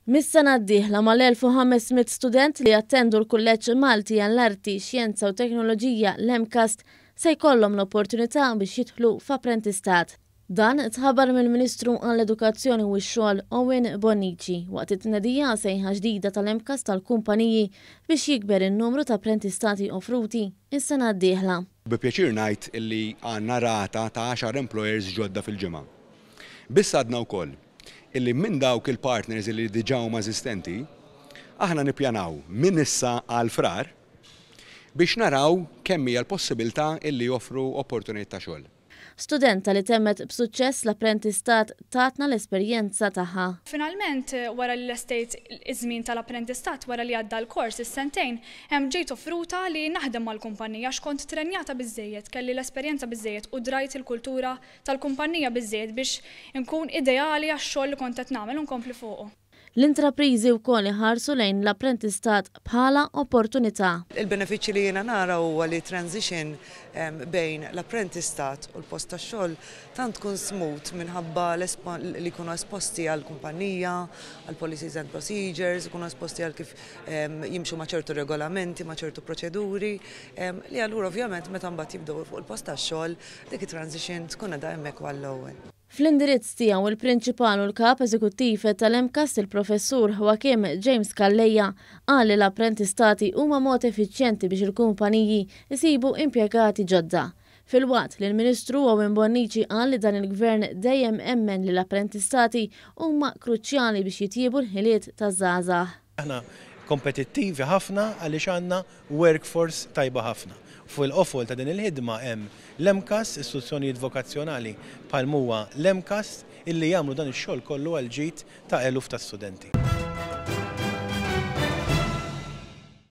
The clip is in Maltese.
Mis-sena d-dieħla mal-1500 student li jattendu l-Kulleġġ Malti għall-Arti, Xjenza u Teknoloġija l-MCAST se jkollhom l-opportunità biex jidħlu f'apprentistat. Dan tħabbar mill-Ministru għall-Edukazzjoni u x-Xogħol Owen Bonnici waqt it-tnedija sejħa ġdida tal-MCAST għall-kumpaniji biex jikber in-numru ta' apprentistati offruti s-sena d-dieħla. Bi pjaċir ngħid li għandna rata ta' għaxar employers ġodda fil-ġimgħa. Biss għadna wkoll illi minn dawk il-partners illi diġà huma eżistenti, aħna nippjanaw minn issa għal Frar biex naraw kemm hija l-possibilità illi joffru opportunitajiet ta' xogħol. Studenta li temmet b'suċċess l-apprentistat tatna l-esperjenza tagħha. Finalment, wara li lestejt iż-żmien tal-apprentistat, wara li għadda l-kors, is-sentejn, ġejt offruta li naħdem mal-kumpanija għax kont trenjata biżżejjed, kelli l-esperjenza biżżejjed u drajt il-kultura tal-kumpanija biżżejjed biex inkun ideali għax-xogħol li kont qed nagħmel u nkompli fuqu. L-intrapriżi wkoll iħarsu lejn l-apprentistat bħala opportunità. Il-benefiċċji li jiena nara huwa li transition bejn l-apprentistat u l-post tax-xogħol tant tkun smooth minħabba li jkunu esposti għall-kumpanija, għall-policies and procedures, ikunu esposti għal kif jimxu ma' ċertu regolamenti, ma' ċertu proċeduri, li allura ovvjament meta mbagħad jibdew fuq il-post tax-xogħol dik it-transition tkun qiegħda hemmhekk għall-ewwel. Fl-indirizz tiegħu il-Prinċipal u l-Kap Eżekuttiv tal-MCAST il-Professur Joachim James Calleja qal li l-apprentistati huma mod effiċjenti biex il-kumpaniji jsibu impjegati ġodda. Filwaqt li l-Ministru Owen Bonnici qal li dan il-Gvern dejjem emmen li l-apprentistati huma kruċjali biex jitjiebu l-ħiliet taż-żgħażagħ. Aħna kompetittivi ħafna għaliex għandna workforce tajba ħafna. Fuq il-qofol ta' din il-ħidma hemm l-MCAST, istituzzjonijiet vokazzjonali bħal huwa l-MCAST illi jagħmlu dan ix-xogħol kollu għal ġid ta' eluf ta' studenti.